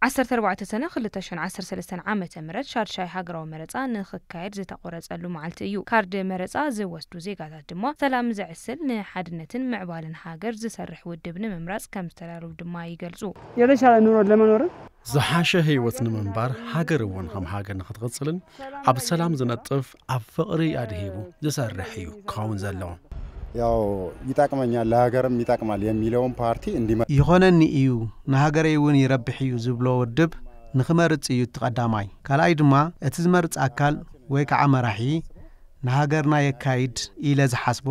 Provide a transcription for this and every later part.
ዓሰርተ ኣርባዕተ ሰነ ክልተ ሽሕን ዓሰርተ ሰለስተን ዓመተ ምህረት ሻድሻይ ሃገራዊ መረጻ ንኽካየድ ዝተቖረጸሉ መዓልቲ እዩ። ካርድ መረጻ ዝወስዱ ዜጋታት ድማ ሰላም ዘዕስል፣ ንሓድነትን ምዕባለን ሃገር ዝሰርሕ ውድብ ንምምራጽ ከም ዝተዳለዉ ድማ ይገልጹ። የተሻለ ኑሮ ለመኖርም ዝሓሸ ህይወት ንምንባር፣ ሃገር እውን ከም ሃገር ንኽትቕጽልን ኣብ ሰላም ዝነጥፍ፣ ኣብ ፍቕሪ ኣድሂቡ ዝሰርሕ እዩ ክኸውን ዘለዎ። ያው ይጠቅመኛል፣ ለሀገርም ይጠቅማል የሚለውን ፓርቲ እንዲመ ይኾነኒ እዩ፣ ንሃገረይ እውን ይረብሕ እዩ ዝብሎ ውድብ ንኽመርጽ እዩ እቲ ቀዳማይ። ካልኣይ ድማ እቲ ዝመርጽ ኣካል ወይ ከዓ መራሒ ንሃገርና የካይድ ኢለ ዝሓስቦ፣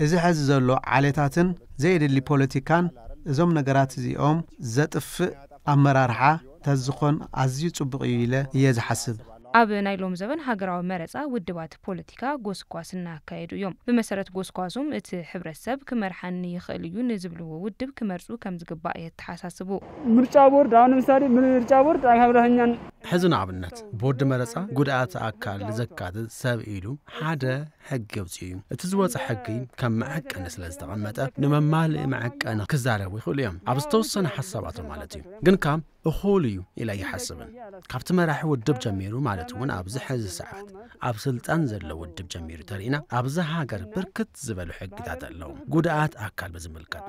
እዚ ሐዚ ዘሎ ዓሌታትን ዘየድሊ ፖለቲካን እዞም ነገራት እዚኦም ዘጥፍእ ኣመራርሓ ተዝኾን ኣዝዩ ጽቡቕ እዩ ኢለ እየ ዝሓስብ። ኣብ ናይ ሎም ዘበን ሃገራዊ መረጻ ውድባት ፖለቲካ ጎስጓስ እናካየዱ እዮም። ብመሰረት ጎስጓሶም እቲ ሕብረተሰብ ክመርሓኒ ይኽእል እዩ ንዝብልዎ ውድብ ክመርጹ ከም ዝግባእ የተሓሳስቡ። ምርጫ ቦርድ፣ አሁን ለምሳሌ ምርጫ ቦርድ ኣብ ሕብረተኛን ሕዚ ንኣብነት ቦርድ መረጻ ጉድኣት ኣካል ዘካትት ሰብ ኢሉ ሓደ ሕጊ ኣውጺኡ እዩ። እቲ ዝወጸ ሕጊ ከም መዐቀኒ ስለ ዝተቐመጠ ንመማልኢ መዐቀኒ ክዛረቡ ይኽእሉ እዮም። ኣብ ዝተወሰነ ሓሳባቶም ማለት እዩ። ግን ካብ እኹል እዩ ኢለ ኣይሓስብን። ካብቲ መራሒ ውድብ ጀሚሩ ማለት እውን ኣብዚ ሕዚ ሰዓት ኣብ ስልጣን ዘሎ ውድብ ጀሚሩ ተሪእና ኣብዚ ሃገር ብርክት ዝበሉ ሕግታት ኣለዉ። ጉድኣት ኣካል ብዝምልከት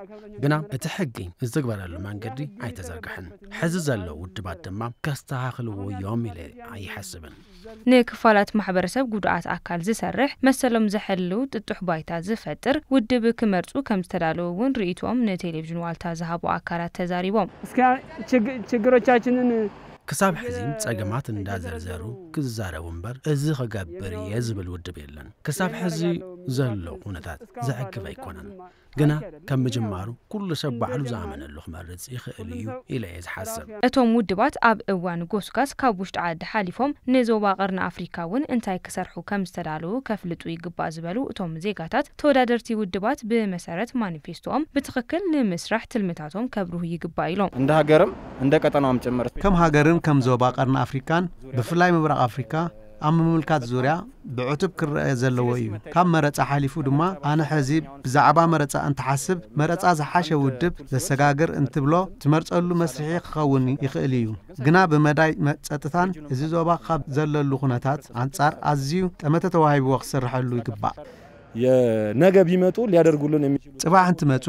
ግና እቲ ሕጊ ዝትግበረሉ መንገዲ ኣይተዘርግሐን። ሕዚ ዘለዉ ውድባት ድማ ከስተኻኽልዎ እዮም ኢለ ኣይሓስብን። ንክፋላት ማሕበረሰብ ጉድኣት ኣካል ዝሰርሕ መሰሎም ዘሕልው ጥጡሕ ባይታ ዝፈጥር ውድብ ክመርጹ ከም ዝተዳለዉ እውን ርእይቶኦም ንቴሌቪዥን ዋልታ ዝሃቡ ኣካላት ተዛሪቦም። እስከ ችግ- ችግሮቻችንን ክሳብ ሕዚ ጸገማት እንዳዘርዘሩ ክዛረቡ እምበር እዚ ክገብር እየ ዝብል ውድብ የለን። ክሳብ ሕዚ ዘሎ ኩነታት ዘዕግብ ኣይኮነን። ግና ከም ምጅማሩ ኩሉ ሰብ ባዕሉ ዝኣመነሉ ክመርጽ ይኽእል እዩ ኢለ እየ ዝሓስብ። እቶም ውድባት ኣብ እዋን ጎስጋስ ካብ ውሽጢ ዓዲ ሓሊፎም ንዞባ ቀርኒ ኣፍሪካ እውን እንታይ ክሰርሑ ከም ዝተዳለዉ ከፍልጡ ይግባእ ዝበሉ እቶም ዜጋታት፣ ተወዳደርቲ ውድባት ብመሰረት ማኒፌስቶኦም ብትኽክል ንምስራሕ ትልምታቶም ከብርሁ ይግባእ ኢሎም። እንደ ሃገርም እንደ ቀጠናውም ጭምር ከም ሃገርን ከም ዞባ ቀርኒ ኣፍሪካን ብፍላይ ምብራቕ ኣፍሪካ ኣብ ምምልካት ዙርያ ብዕቱብ ክረአ ዘለዎ እዩ። ካብ መረጻ ሓሊፉ ድማ ኣነ ሕዚ ብዛዕባ መረጻ እንትሓስብ መረጻ ዝሓሸ ውድብ ዘሰጋግር እንትብሎ ትመርጸሉ መስርሒ ክኸውን ይኽእል እዩ። ግና ብመዳይ መ- ጸጥታን እዚ ዞባ ካብ ዘለሉ ኩነታት ኣንጻር ኣዝዩ ጠመተ ተዋሂብዎ ክስርሐሉ ይግባእ። የነገ ቢመጡ ሊያደርጉልን የሚ ጽባሕ እንትመጹ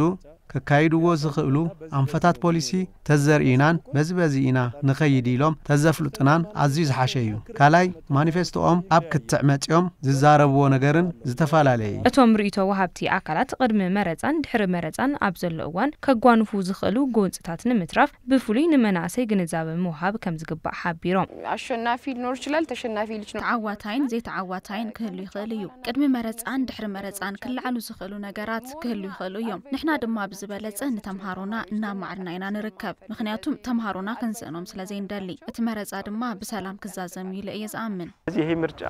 ከካይድዎ ዝኽእሉ ኣንፈታት ፖሊሲ ተዘርኢናን በዚ በዚ ኢና ንኸይድ ኢሎም ተዘፍልጡናን ኣዝዩ ዝሓሸ እዩ። ካልኣይ ማኒፌስቶኦም ኣብ ክትዕ መጺኦም ዝዛረብዎ ነገርን ዝተፈላለየ እዩ። እቶም ርእይቶ ወሃብቲ ኣካላት ቅድሚ መረጻን ድሕሪ መረጻን ኣብ ዘሎ እዋን ከጓንፉ ዝኽእሉ ጎንጽታት ንምትራፍ ብፍሉይ ንመናእሰይ ግንዛበ ምውሃብ ከም ዝግባእ ሓቢሮም። አሸናፊ ሊኖር ይችላል፣ ተሸናፊ ሊኖር ተዓዋታይን ዘይተዓዋታይን ክህሉ ይኽእል እዩ። ቅድሚ መረጻን ድሕሪ መረጻን ክለዓሉ ዝኽእሉ ነገራት ክህሉ ይኽእሉ እዮም። ንሕና ድማ ብዝበለጸ ንተምሃሮና እናማዕርና ኢና ንርከብ። ምኽንያቱም ተምሃሮና ክንስእኖም ስለ ዘይንደሊ። እቲ መረጻ ድማ ብሰላም ክዛዘም እዩ ኢለ እየ ዝኣምን። ስለዚህ ይሄ ምርጫ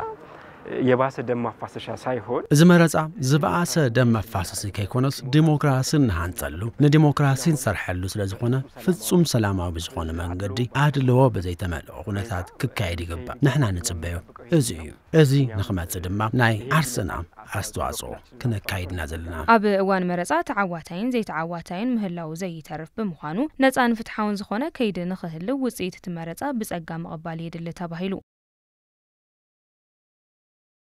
የባሰ ደም ማፋሰሻ ሳይሆን እዚ መረጻ ዝበኣሰ ደም መፋሰሲ ከይኮነስ ዲሞክራሲ እንሃንጸሉ ንዲሞክራሲ እንሰርሐሉ ስለ ዝኾነ ፍጹም ሰላማዊ ብዝኾነ መንገዲ ኣድልዎ ብዘይተመልኦ ኩነታት ክካየድ ይግባእ። ንሕና ንጽበዮ እዚ እዩ። እዚ ንኽመጽእ ድማ ናይ ዓርስና ኣስተዋጽኦ ክነካይድና ዘለና። ኣብ እዋን መረጻ ተዓዋታይን ዘይተዓዋታይን ምህላው ዘይተርፍ ብምዃኑ ነጻን ፍትሓውን ዝኾነ ከይዲ ንኽህልው ውጽኢት እቲ መረጻ ብጸጋ ምቕባል የድሊ ተባሂሉ።